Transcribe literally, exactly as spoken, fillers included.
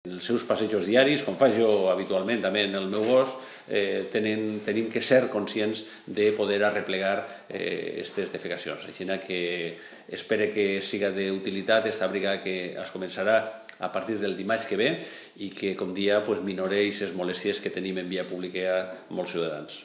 En els seus passejos diaris, com faig jo habitualment també en el meu gos, eh, tenen, tenim que ser conscients de poder arreplegar aquestes eh, defecacions. Així que espero que siga d'utilitat aquesta brigada que es començarà a partir del dimarts que ve i que, com dia, pues, minoreix les molèsties que tenim en via pública molts ciutadans.